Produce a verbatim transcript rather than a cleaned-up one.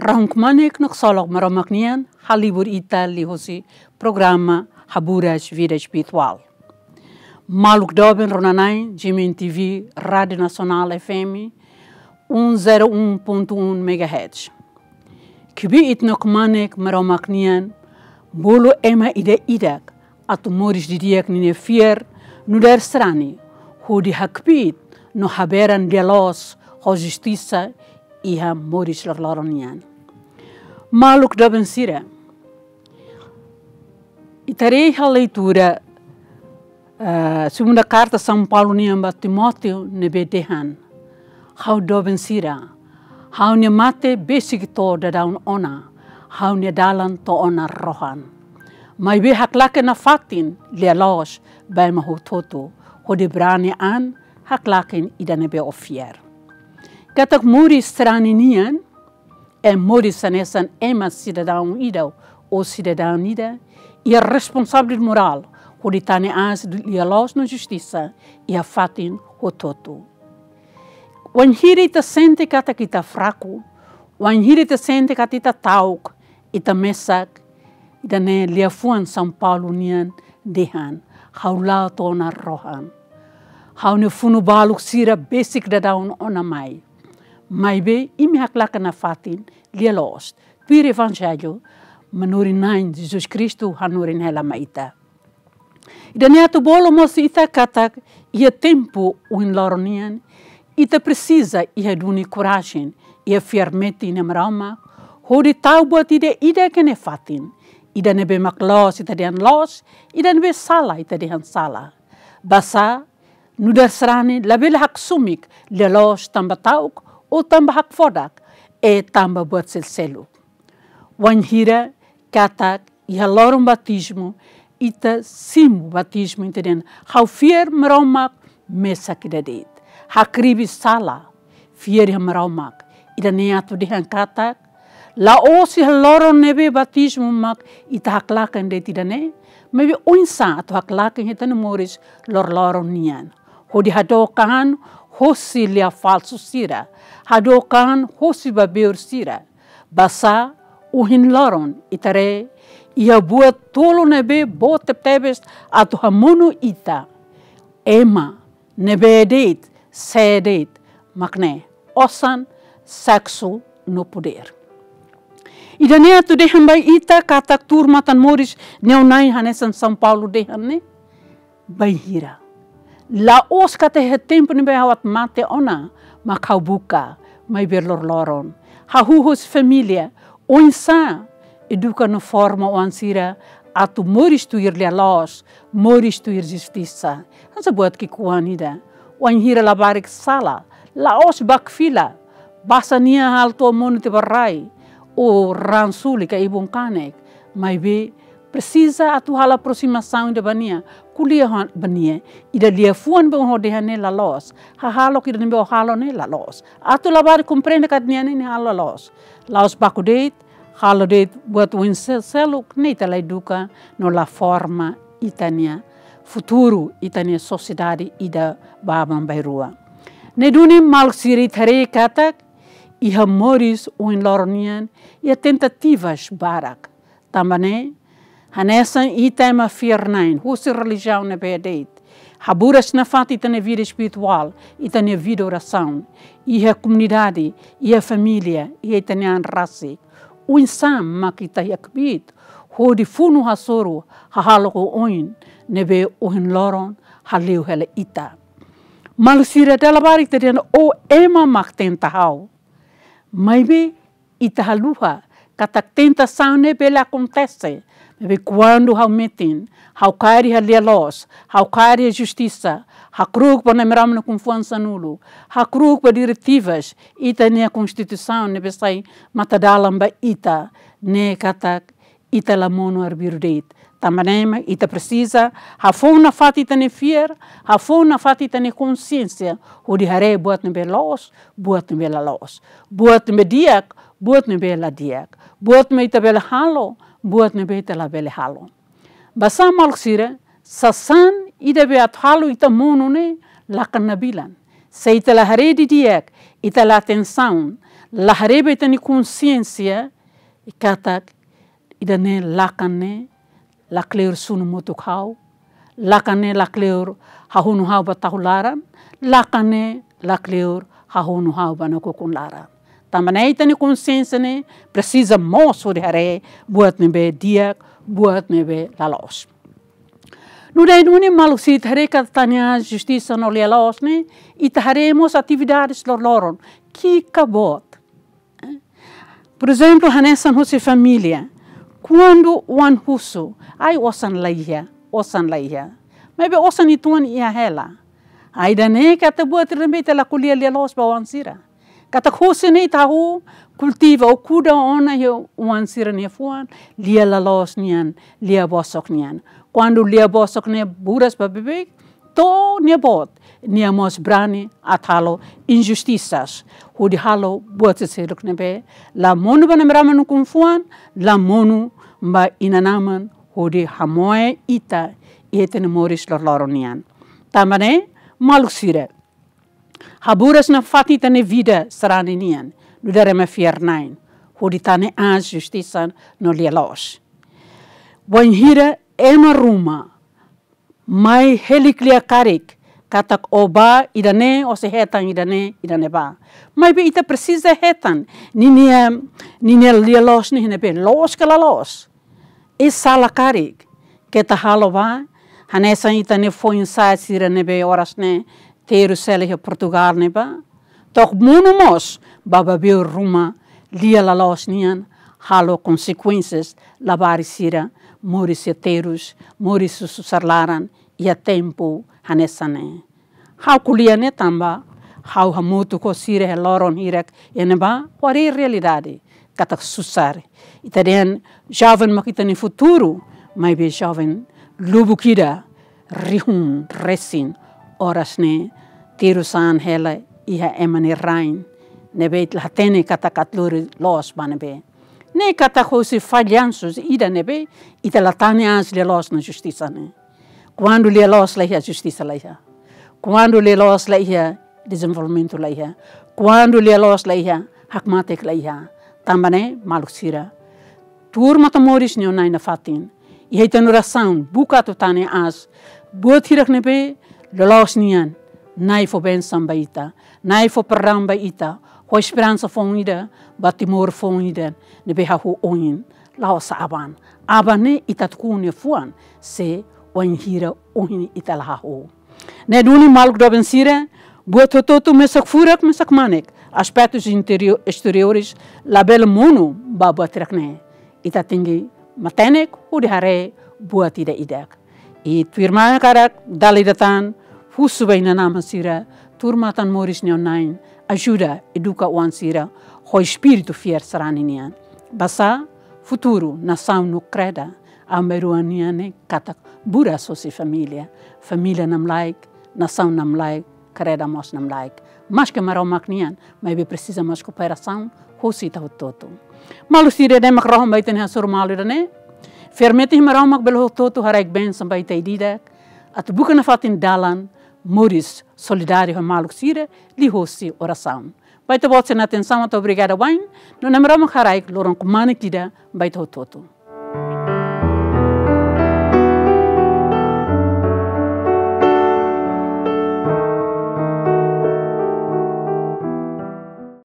Rahun kmanek no ksolok Maromak nian halibur ita liuhusi programa Haburas Vida Espirituál. Maluk doben rona-na'in, G M N T V, Rádio Nasionál F M, um zero um ponto um megahertz. Kbiit no kmanek Maromak nian, bolu ema ida-idak atu moris didi'ak ninia fiar nu'udar sarani, hodi hakbiit no haberan lia-loos ho justisa iha moris loroloron nian. Maluk doben sira, ita haree iha leitura, eh, segunda karta São Paulo nian ba Timóteo ne'ebé dehan: Ha'u doben sira, ha'u-nia mate besik to'o daudaun ona, ha'u-nia dalan to'o ona rohan. Maibé haklaken nafatin lia-loos ba ema hotu-hotu, hodi brani an haklaken ida ne'ebé ó fiar. Katak moris sarani nian é moris hanesan ema sidadaun ida ou sidadán ida iha responsabilidade morál hodi tane aas lia-loos no justisa iha fatin hotu-hotu. Wainhira ita sente katak ita fraku, wainhira ita sente katak ita ta'uk, ita mesak, ida-ne'e liafuan São Paulo nian dehan: Ha'u la'o to'o ona rohan. Ha'u-nia funu-balun sira besik daudaun ona mai. Maibé imi haklaken nafatin lia-loos, tuir Evanjellu manorin-na'in Jesus Kristu hanorin hela mai ita. Ida-ne'e atu bolu mós ita katak iha tempu ohin loron nian, ita presiza iha duni korajen, iha fiar metin iha Maromak, hodi tau buat ida-idak iha nia fatin, ida ne'ebé mak loos ita dehan loos, ida ne'ebé sala ita dehan sala. Basá nu'udar sarani labele haksoit lia-loos tanba ta'uk, ou tanba hakfodak, ou tanba buat selu-seluk. Wainhira katak iha loron batizmu, ita simu batizmu, ita dehan: Ha'u fiar Maromak mesak ida de'it. Hakribi sala, fiar iha Maromak. Ida-ne'e atu dehan katak la'ós iha loron ne'ebé batizmu mak ita haklaken de'it ida-ne'e, maibé oinsá atu haklaken iha ita-nia moris loroloron nian. Hodi hadook an hosi lia falsu sira, hadook an hosi babeur sira. Basá ohin loron ita haree iha buat tolu ne'ebé boot tebetebes atu hamonu ita. Ema ne'ebé de'it, sé de'it, mak ne'e osan, seksu no podér. Ida-ne'e atu dehan ba ita katak tuur matan-moris neon-na'in hanesan São Paulo dehan ne'e. Bainhira? La'ós katak iha tempu ne'ebé ha'u atu mate ona mak ha'u buka, maibé loroloron. Hahú husi família, oinsá eduka no forma oan sira atu moris tuir lia-loos, moris tuir justisa. Hanesan buat ki'ikoan ida. Wainhira labarik sala, la'ós bá fila, basa nia halo to'o monu tiha ba rai, ou raan suli ka ibun kanek, maibé presiza atu halo aprosimasaun ida ba nia, ko'alia ho ba nia, ida liafuan ne'ebé ó dehan ne'e la loos, hahalok ida ne'ebé ó halo ne'e la loos. Atu labarik komprende katak nia ne'e nia halo la loos. La'ós baku de'it, halo de'it buat oin se-, seluk, ne'e ita la eduka no la forma ita-nia futuru, ita-nia sosiedade ida ba aban-bainrua. Ne'e duni maluk sira, ita haree katak iha moris ohin loron nian iha tentativas barak. Tanba ne'e, hanesan ita ema fiar-na'in, husi relijiaun ne'ebé de'it, haburas nafatin ita-nia vida espirituál, ita-nia vida orasaun, iha komunidade, iha família, iha ita-nia an rasik. Oinsá mak ita iha kbiit hodi funu hasoru hahalok oioin ne'ebé ohin loron hale'u hela ita. Maluk sira, dala barak ita dehan: ó ema mak tenta ha'u. Maibé ita haluha katak tentasaun ne'e bele akontese, maibé kuandu ha'u metin, ha'u kaer iha lia-loos, ha'u kaer iha justisa, hakru'uk ba Nai Maromak nia ukun-fuan sanulu, hakru'uk ba diretivas ita-nia konstituisaun ne'ebé sai matadalan ba ita, ne'e katak ita la monu arbiru de'it. Tanba ne'e mak ita presiza hafoun nafatin ita-nia fiar, hafoun nafatin ita-nia konsiénsia, hodi haree buat ne'ebé loos, buat ne'ebé la loos, buat ne'ebé di'ak, buat ne'ebé la di'ak, buat ne'ebé ita bele halo, buat ne'ebé ita labele halo. Basá maluk sira, sasán ida be atu halo ita monu ne'e lakan nabilan. Se ita la haree didi'ak, ita la atensaun, la haree ba ita-nia konsiénsia katak ida-ne'e lakan ne'e lakleur sunu motuk ha'u, lakan ne'e lakleur hahonu ha'u ba tahu laran, lakan ne'e lakleur hahonu ha'u ba nakukun laran. Tanba ne'e ita-nia konsiénsia ne'e presiza moos hodi haree buat ne'ebé di'ak, buat ne'ebé la loos. Nu'udar ida-ne'e maluk sira, ita haree katak ita-nia justisa no lia-loos ne'e, ita haree mós atividades loroloron, ki'ik ka boot. Por ezemplu, hanesan husi família. Kuandu oan husu, ai osan la iha, osan la iha. Maibé osan uitoan iha hela. Ida-ne'e katak buat ida ne'ebé ita la ko'alia lia-loos ba oan sira. Katak husi ne'e ita hahú kultiva ou kuda ona iha oan sira-nia fuan, lia la loos nian, lia bosok nian. Kuandu lia bosok ne'e buras ba beibeik, to'o nia boot, nia mós brani atu halo injustisas, hodi halo buat seluk ne'ebé la monu ba namrama no kunfuan, la monu ba inan-aman, hodi hamoe ita iha ita-nia moris loroloron nian. Tanba ne'e, maluk sira, haburas nafatin ita-nia vida sarani nian, nu'udar ema fiar-na'in, hodi tane aas justisa no lia-loos. Wainhira ema ruma mai hili ko'alia karik katak ó bá ida-ne'e, ó sei hetan ida-ne'e, ida-ne'ebá. Maibé ita presiza hetan ninia, ninia lia-loos ne'e iha ne'ebé, loos ka la loos. I sala karik, keta halo ba hanesan ita-nia foin-sa'e sira ne'ebé oras ne'e terus hela iha Portugal ne'ebá. To'o monu mós ba babeor ruma lia la loos nian, halo konsekuénsias labarik sira, moris iha terus, moris susar laran iha tempu hanesan ne'e. Ha'u ko'alia ne'e tanba ha'u hamutuk ho sira iha loron hirak iha ne'ebá, haree realidade katak susar. Ita dehan joven mak ita-nia futuru, maibé joven lubuk ida, rihun resin, oras ne'e terus an hela iha ema nia rain, ne'ebé ita la hatene katak atu lori loos ba ne'ebé. Ne'e katak husi fallansu ida ne'ebé ita la tane aas lia-loos no justisa ne'e. Kuandu lia-loos la iha, justisa la iha. Kuandu lia-loos la iha, dezenvolvimentu la iha. Kuandu lia-loos la iha, hakmatek la iha. Tanba ne'e, maluk sira, tuur matan-moris nia Na'i nafatin. Iha ita-nia orasaun, buka atu tane aas buat hirak ne'ebé loloos nian. Na'i fó bensaun ba ita, Na'i fó perdaun ba ita, fó esperansa foun ida ba Timor foun ida ne'ebé hahú oin, la'ós aban. Aban ne'e ita atu ku'u nia fuan, se wainhira ohin ita la hahú. Ne'e duni, maluk doben sira, buat hotu-hotu, mesak furak, mesak manek, aspetus interiór, exteriores, labele monu ba buat hirak ne'e. Ita tenke matenek hodi haree buat ida-idak. I tuirmai hakarak dala ida tan husu ba inan-aman sira, tuur matan-moris nia Na'i, ajuda, eduka oan sira ho espíritu fiar sarani nian. Basá futuru nasaun no kreda, aban-bainrua nian ne'e katak buras husi família. Família namlaik, nasaun namlaik, kreda mós namlaik. Maske Maromak nian, maibé presiza mós kooperasaun husi ita hotu-hotu. Maluk sira, ida-ne'e mak rohan ba ita-nia hasoru malu ida-ne'e. Fiar metin Maromak bele hotu-hotu haraik bensaun ba ita ida-idak, atu buka nafatin dalan moris solidáriu ho maluk sira, liuhosi orasaun. Ba ita-boot sira-nia atensaun, atu obrigada wa'in, no Na'i Maromak haraik loron kmanek ida ba ita hotu-hotu.